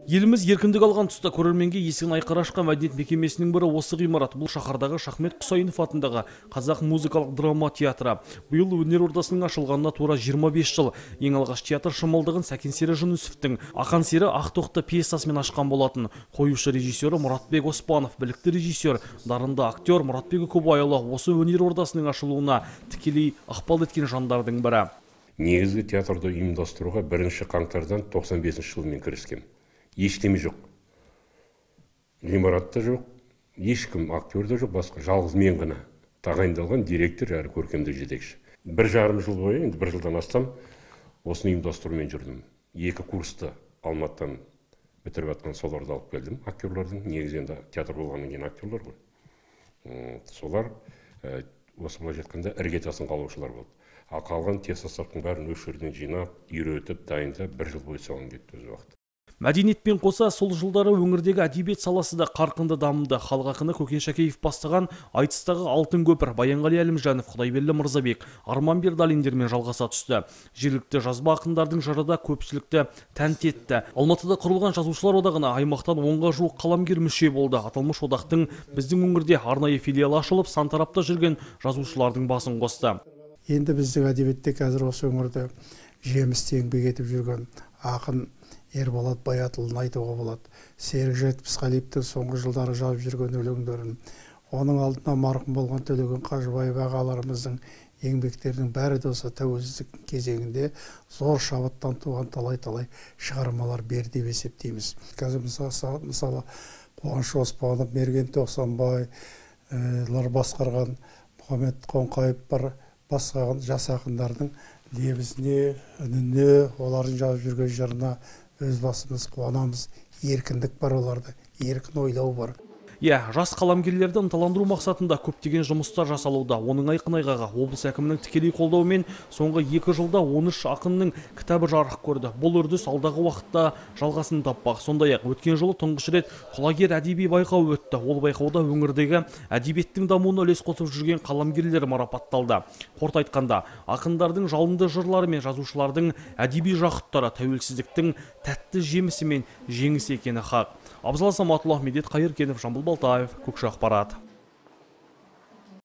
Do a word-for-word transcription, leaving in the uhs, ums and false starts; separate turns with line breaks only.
Еліміз еркіндік алған тұста көрерменге есігін айқара ашқан мәдениет мекемесінің бірі осы ғимарат. Бұл шаһардағы Шахмет Құсайынов атындағы қазақ музыкалық драма театры. Биыл өнер ордасының ашылғанына тура жиырма бес жыл. Ең алғаш театр шымылдығын Сәкен Сері Жүнісовтің Ақан сері Ақтоқты пьесасымен ашқан болатын. Қоюшы режиссері Мұратбек Оспанов, білікті режиссер, дарынды актер Мұратбек Көбайұлы осы өнер ордасының ашылуына тікелей ықпал еткен жандардың бірі.
Негізгі театрды ұйымдастыруға бірінші қаңтардан тоқсан бесінші жылмен кіріскен. Ештеме жоқ. Ғимаратта жоқ, ешкім актерде жоқ, басқа жалғыз мен ғана тағайындалған директор әрі көркемдік жетекші. Бір жарым жыл бойы, енді бір жылдан астам осыны ұйымдастырумен жүрдім. Екі курсты Алматыдан бітіріп жатқан соларды алып келдім. Актерлардың негізінде театр болғаннан кейін актерлар ғой. Солар осы былай жатқанда іргетасын қалаушылар болды. Ал қалған театрдың бәрін осы жерден жинап, үйретіп, дайындап бір жыл бойы соған кетті өз уақыты.
Мәдениетпен қоса сол жылдары өңірдегі әдебиет саласы да қарқынды дамыды. Халық ақыны Көкен Шәкеев бастаған айтыстағы Алтын көпір Баянғали Әлімжанов, Құдайберді Мырзабек, Арман Бердалиндермен жалғаса түсті. Жергілікті жазба ақындардың жыры да көпшілікті тәнті етті. Алматыда құрылған жазушылар одағына аймақтан онға жуық қаламгер мүше болды. Аталмыш одақтың біздің өңірде арнайы филиалы ашылып, сан тарапта жүрген жазушылардың басын қосты.
Енді біздің әдебиетте қазір осы өңірде жемісті еңбек етіп жүрген ақын Ерболат Баятұлын айтуға болады. Серік Жетпісқалиевтің соңғы жылдары жазып жүрген өлеңдерін, оның алдына марқұм болған Төлеген Қажыбаев ағаларымыздың еңбектерінің бәрі де осы тәуелсіздік кезеңінде зор шабыттан туған талай-талай шығармалар берді деп есептейміз. Қазір мысалы Қуаныш Оспанов, Мерген Тоқсанбайлар басқарған Мұхаммед Қоңқайып бар басқарған жас ақындардың лебізіне, үніне, олардың жазып жүрген жырына өз басымыз қуанамыз. Еркіндік бар оларда, еркін ойлау бар.
Иә, жас қаламгерлерді ынталандыру мақсатында көптеген жұмыстар жасалуда. Оның айқын айғағы облыс әкімінің тікелей қолдауымен соңғы екі жылда он үш ақынның кітабы жарық көрді. Бұл үрдіс алдағы уақытта жалғасын таппақ. Сондай-ақ өткен жылы тұңғыш рет құлагер әдеби байқау өтті. Ол байқауда өңірдегі әдебиеттің дамуына үлес қосып жүрген қаламгерлер марапатталды. Қорыта айтқанда, ақындардың жалынды жырлары мен жазушылардың әдеби жақұттары тәуелсіздіктің тәтті жемісі мен жеңісі екені хақ. Абзал Саматұлы, Медет Қайыркенов, Жамбыл Балтаев, Көкші Ақпарат.